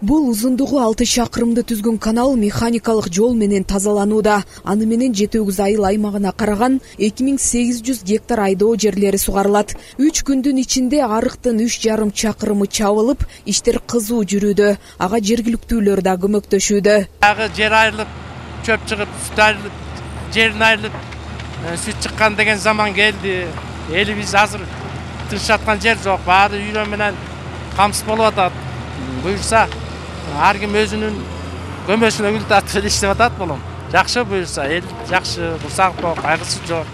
Бул узундугу 6 чакырымды түзгөн канал механикалык жол менен тазаланууда. Аны менен Жети Өгүз айыл аймагына караган 2800 гектар айдоо жерлери сугарылат. 3 күндүн ичинде арыктын 3,5 чакырымы чабылып, иштер кызуу жүрүүдө. Ага жергиликтүүлөр да көмөктөшүүдө. Ага жер айрылып, чөп чыгып, сүт айрылып, жерин айрылып, сүт чыккан деген заман келди. Элибиз азыр тыныч жаткан жер жок. Баары үйрө менен камсыз болуп атат. Буюрса ар ким өзүнүн көмөсүнө гүл тартып иштеп атат болом. Жакшы буюрса, эл жакшы, бурсак кайгысы жок.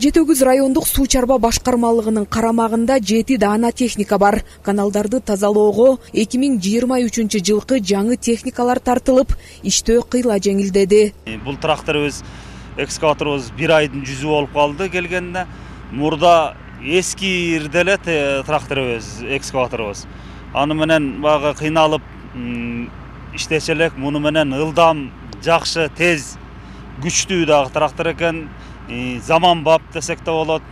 Жети Өгүз райондук суу чарба башкармалыгынын карамагында 7 даана техника бар. Каналдарды тазалоого 2023 жылкы жаңы техникалар тартылып, иштөө кыйла жеңилдеди. Бул тракторубуз, экскаваторубуз 1 айдын жүзү болуп калды келгенде. Мурда эски ирделет тракторубуз, экскаваторубуз. Аны менен бага кыйналып иштесе элек, муну менен ылдам, жакшы, тез, күчтүү дагы трактор экен. Заманбап десек да болот.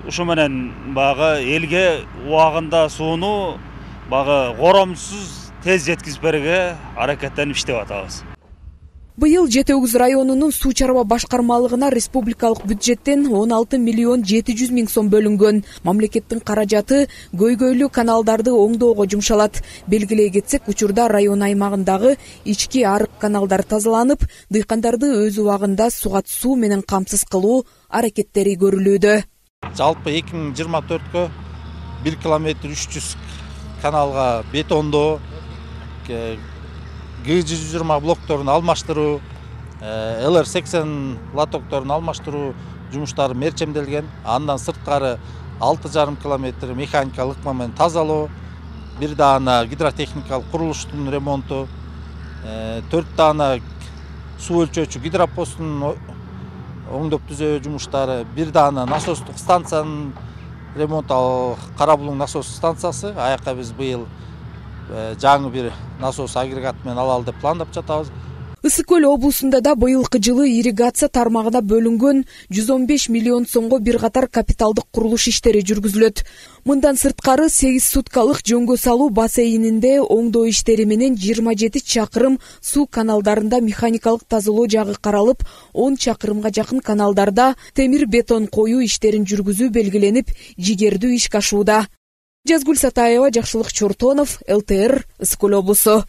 Ушу менен бага элге убагында сууну бага коромсуз тез жеткизип берүүгө аракеттенип иштеп атабыз. Быйыл Жети Өгүз районунун суу чарба башкармалыгына республикалык бюджеттен 16 миллион 700 миң сом бөлүнгөн. Мамлекеттин каражаты көйгөйлүү каналдарды оңдоого жумшалат. Белгилей кетсек, учурда район аймагындагы ички арык каналдар тазаланып, дыйкандарды өз убагында сугат суу менен камсыз кылуу аракеттери көрүлүүдө. Жалпы 2024кө 1 километр 300 каналга бетондоо, Г120 блокторун алмаштыруу, ЛР80 лотокторун алмаштыруу жумуштары мерчемделген. Андан сырткары 6,5 километр механикалык ыкма менен тазалоо, 1 даана гидротехникалык курулуштун ремонту, 4 даана суу өлчөөчү гидропостун оңдоп түзөө жумуштары, 1 даана насостук станциянын ремонту, Кара Булуң насос станциясы. Аяка биз быйыл жаңы бир насос агрегат менен алалы деп пландап жатабыз. Ысык көл облусунда да быйылкы жылы ирригация тармагына бөлүнгөн 115 миллион сомго бир катар капиталдык курулуш иштери жүргүзүлөт. Мындан сырткары 8 суткалык жөнгө салуу бассейнинде оңдоо иштери менен 27 чакырым суу каналдарында механикалык тазалоо жагы каралып, 10 чакырымга жакын каналдарда темир бетон коюу иштерин жүргүзүү белгиленип, жигердүү ишке ашууда. Жазгүл Сатаева, Жакшылык Чортонов, ЛТР, Ысык көл облусу.